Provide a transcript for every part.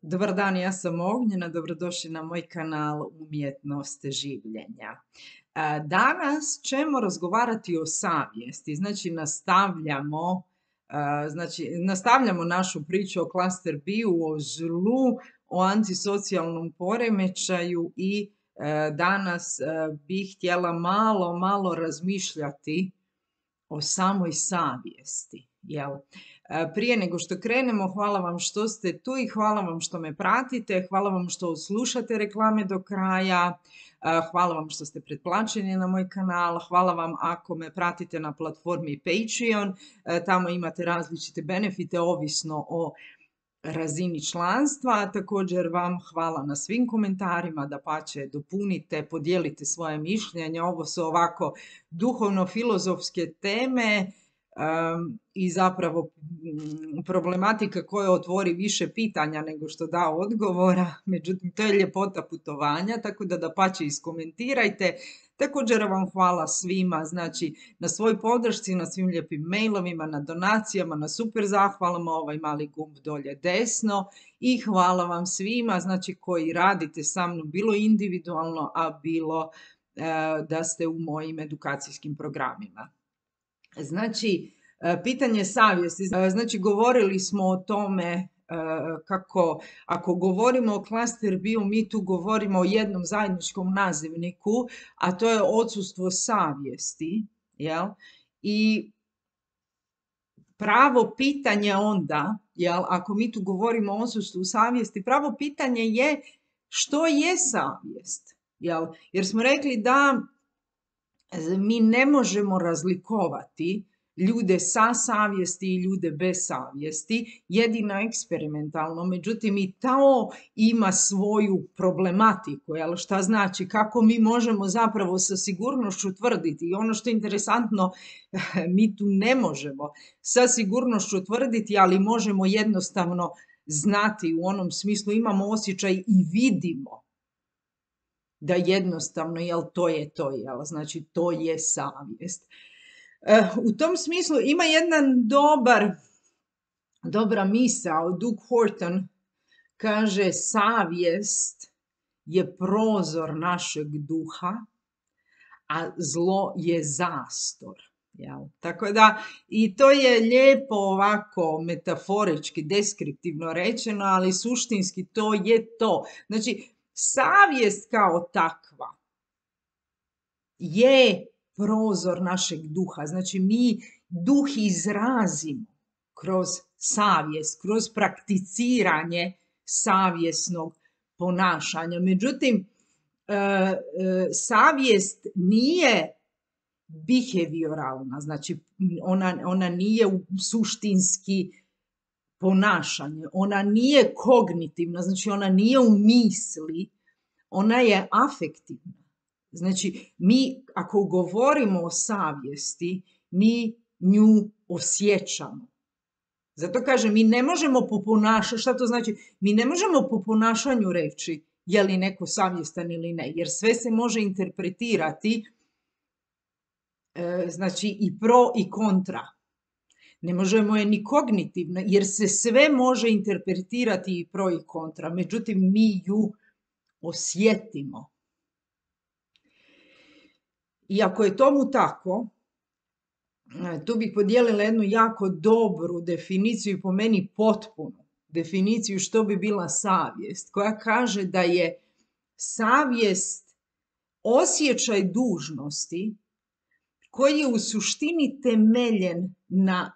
Dobar dan, ja sam Ognjena, dobrodošli na moj kanal Umjetnost življenja. Danas ćemo razgovarati o savjesti, nastavljamo našu priču o klaster B-u, o zlu, o antisocijalnom poremećaju i danas bih htjela malo razmišljati o samoj savjesti. Jel? Prije nego što krenemo, hvala vam što ste tu i hvala vam što me pratite, hvala vam što slušate reklame do kraja, hvala vam što ste pretplaćeni na moj kanal, hvala vam ako me pratite na platformi Patreon, tamo imate različite benefite ovisno o razini članstva. Također vam hvala na svim komentarima, dapače dopunite, podijelite svoje mišljenje. Ovo su ovako duhovno-filozofske teme i zapravo problematika koja otvori više pitanja nego što da odgovora. Međutim, to je ljepota putovanja, tako da dapače iskomentirajte. Također vam hvala svima, na svoj podršci, na svim lijepim mailovima, na donacijama, na super zahvalama, ovaj mali gumb dolje desno i hvala vam svima, koji radite sa mnom, bilo individualno, a bilo da ste u mojim edukacijskim programima. Pitanje savjesti. Govorili smo o tome kako ako govorimo o klaster B-u, mi tu govorimo o jednom zajedničkom nazivniku, a to je odsustvo savjesti. Jel? I pravo pitanje onda, ako mi tu govorimo o odsustvu savjesti, pravo pitanje je što je savjest? Jer smo rekli da mi ne možemo razlikovati ljude sa savjesti i ljude bez savjesti, jedino eksperimentalno, međutim i to ima svoju problematiku, šta znači, kako mi možemo zapravo sa sigurnošću tvrditi. I ono što je interesantno, mi tu ne možemo sa sigurnošću tvrditi, ali možemo jednostavno znati, u onom smislu imamo osjećaj i vidimo da jednostavno, to je to, to je savjest. U tom smislu ima jedna dobra misao, Doug Horton kaže savjest je prozor našeg duha, a zlo je zastor. Tako da, i to je lijepo ovako metaforički, deskriptivno rečeno, ali suštinski to je to. Savjest kao takva je prozor našeg duha. Mi duh izrazimo kroz savjest, kroz prakticiranje savjesnog ponašanja. Međutim, savjest nije behavioralna, ona nije suštinski ponašanje, ona nije kognitivna, ona nije u misli, ona je afektivna. Mi ako govorimo o savjesti, mi nju osjećamo. Zato kažem, mi ne možemo po ponašanju, šta to znači? Mi ne možemo po ponašanju reći je li neko savjestan ili ne, jer sve se može interpretirati, i pro i kontra. Ne možemo je ni kognitivno, jer se sve može interpretirati i pro i kontra. Međutim, mi ju osjetimo. I ako je tomu tako, tu bih podijelila jednu jako dobru definiciju, po meni potpunu definiciju što bi bila savjest, koja kaže da je savjest osjećaj dužnosti koji je u suštini temeljen na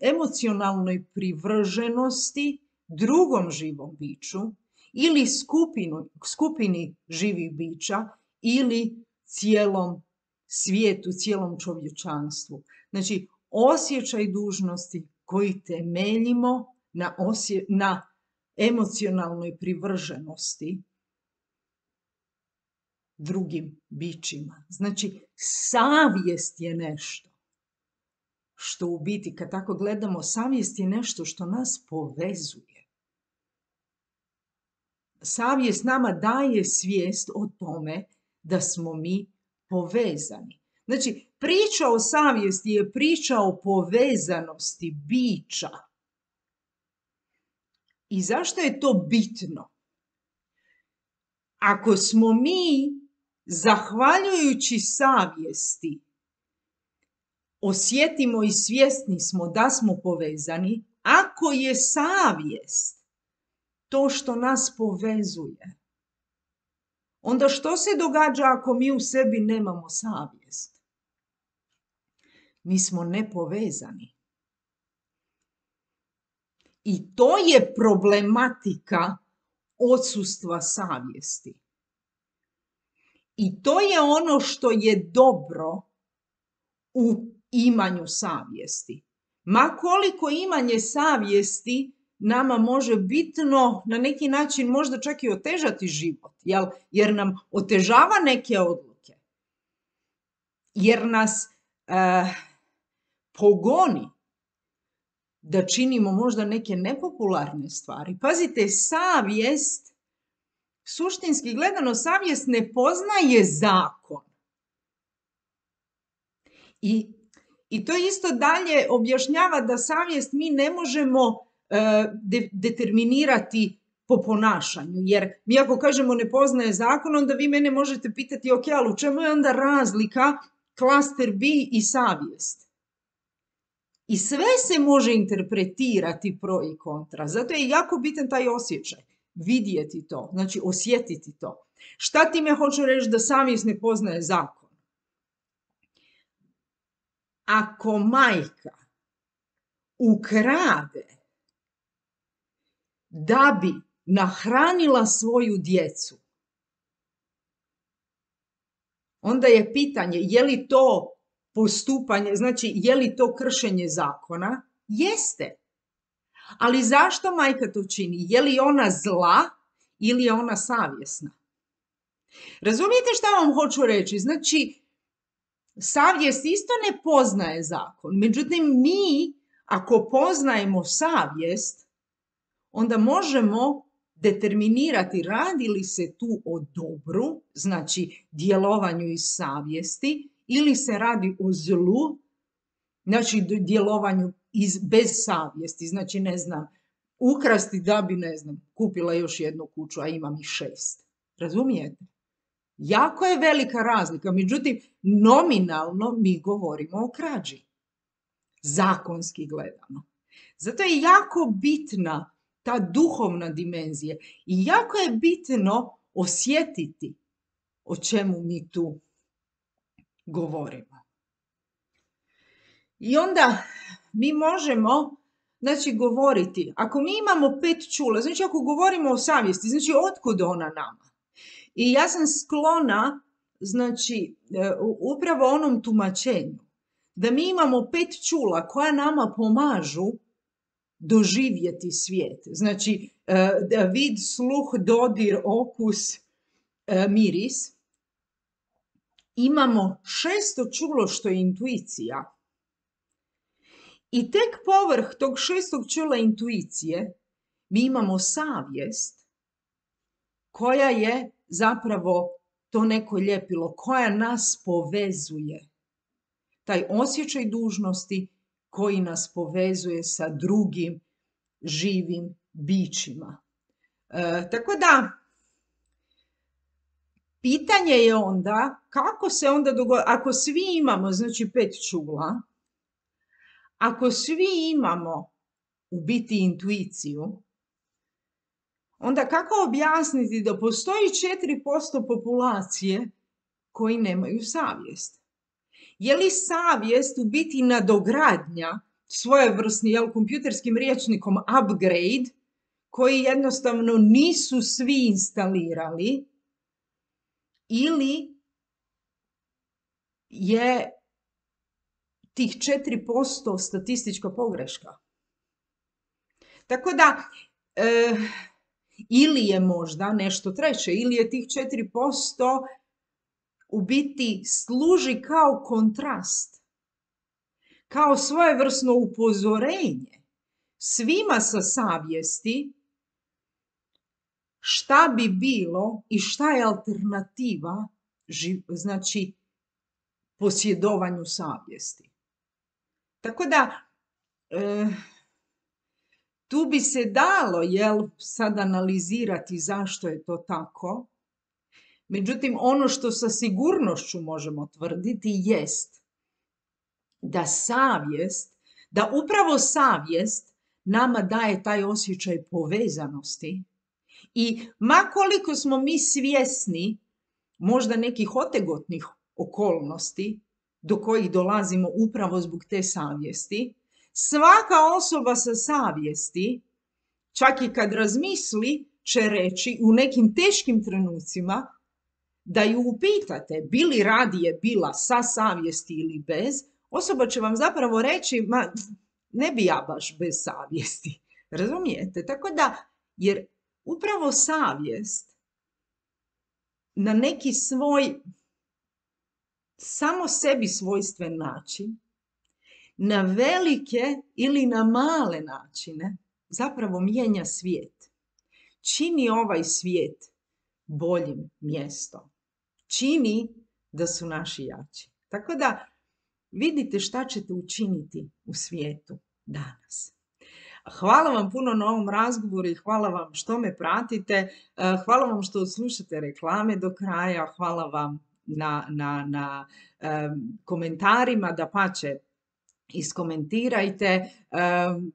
emocionalnoj privrženosti drugom živom biću ili skupini živih bića ili cijelom svijetu, cijelom čovječanstvu. Osjećaj dužnosti koji temeljimo na emocionalnoj privrženosti drugim bićima. Savjest je nešto što u biti, kad tako gledamo, savjest je nešto što nas povezuje. Savjest nama daje svijest o tome da smo mi povezani. Priča o savjesti je priča o povezanosti bića. I zašto je to bitno? Ako smo mi, zahvaljujući savjesti, osjetimo i svjesni smo da smo povezani, ako je savjest to što nas povezuje, onda što se događa ako mi u sebi nemamo savjest? Mi smo nepovezani. I to je problematika odsustva savjesti. I to je ono što je dobro u imanju savjesti. Ma koliko imanje savjesti nama može bitno, na neki način možda čak i otežati život, jer nam otežava neke odluke, jer nas pogoni da činimo možda neke nepopularne stvari. Pazite, savjest, suštinski gledano, savjest ne poznaje zakon. I to isto dalje objašnjava da savjest mi ne možemo determinirati po ponašanju. Jer mi ako kažemo ne poznaje zakon, onda vi mene možete pitati, ok, ali u čemu je onda razlika klaster B i savjest? I sve se može interpretirati pro i kontra. Zato je jako bitan taj osjećaj. Vidjeti to, znači osjetiti to. Šta time hoću reći da savjest ne poznaje zakon? Ako majka ukrade da bi nahranila svoju djecu, onda je pitanje je li to postupanje, znači je li to kršenje zakona? Jeste. Ali zašto majka to čini? Je li ona zla ili je ona savjesna? Razumijete šta vam hoću reći? Znači, savjest isto ne poznaje zakon. Međutim, mi, ako poznajemo savjest, onda možemo determinirati radi li se tu o dobru, znači djelovanju iz savjesti, ili se radi o zlu, znači djelovanju bez savjesti, znači ne znam, ukrasti da bi, ne znam, kupila još jednu kuću, a imam ih 6. Razumijete? Jako je velika razlika, međutim, nominalno mi govorimo o krađi, zakonski gledano. Zato je jako bitna ta duhovna dimenzija i jako je bitno osjetiti o čemu mi tu govorimo. I onda mi možemo, znači, govoriti, ako mi imamo 5 čula, znači ako govorimo o savjesti, znači otkud ona nama? I ja sam sklona, znači, upravo onom tumačenju, da mi imamo 5 čula koja nama pomažu doživjeti svijet. Znači, vid, sluh, dodir, okus, miris. Imamo 6. čulo što je intuicija. I tek povrh tog 6. čula intuicije mi imamo savjest koja je zapravo to neko ljepilo, koja nas povezuje. Taj osjećaj dužnosti koji nas povezuje sa drugim živim bićima. Tako da, pitanje je onda kako se onda dogodi, ako svi imamo, znači 5 čula, ako svi imamo u biti intuiciju, onda kako objasniti da postoji 4% populacije koji nemaju savjest? Je li savjest u biti nadogradnja svojevrsni, kompjuterskim rječnikom upgrade, koji jednostavno nisu svi instalirali, ili je tih 4% statistička pogreška? Tako da, ili je možda nešto treće, ili je tih 4% u biti služi kao kontrast, kao svojevrsno upozorenje svima sa savjesti šta bi bilo i šta je alternativa, znači, posjedovanju savjesti. Tako da, Tu bi se dalo, sad analizirati zašto je to tako. Međutim, ono što sa sigurnošću možemo tvrditi jest da upravo savjest nama daje taj osjećaj povezanosti i ma koliko smo mi svjesni možda nekih otegotnih okolnosti do kojih dolazimo upravo zbog te savjesti, svaka osoba sa savjesti, čak i kad razmisli, će reći u nekim teškim trenucima da ju upitate bi li radije bila sa savjesti ili bez, osoba će vam zapravo reći, ma ne bi ja baš bez savjesti. Razumijete? Tako da, jer upravo savjest na neki svoj samo sebi svojstven način, na velike ili na male načine, zapravo mijenja svijet. Čini ovaj svijet boljim mjestom. Čini da su naši jači. Tako da vidite šta ćete učiniti u svijetu danas. Hvala vam puno na ovom razgovoru i hvala vam što me pratite. Hvala vam što slušate reklame do kraja. Hvala vam na komentarima, dapače iskomentirajte.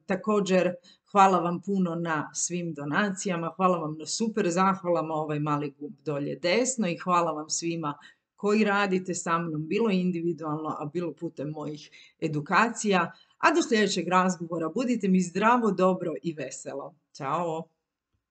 Također hvala vam puno na svim donacijama, hvala vam na super zahvalama, ovaj mali gumb dolje desno i hvala vam svima koji radite sa mnom, bilo individualno, a bilo putem mojih edukacija. A do sljedećeg razgovora budite mi zdravo, dobro i veselo. Ćao!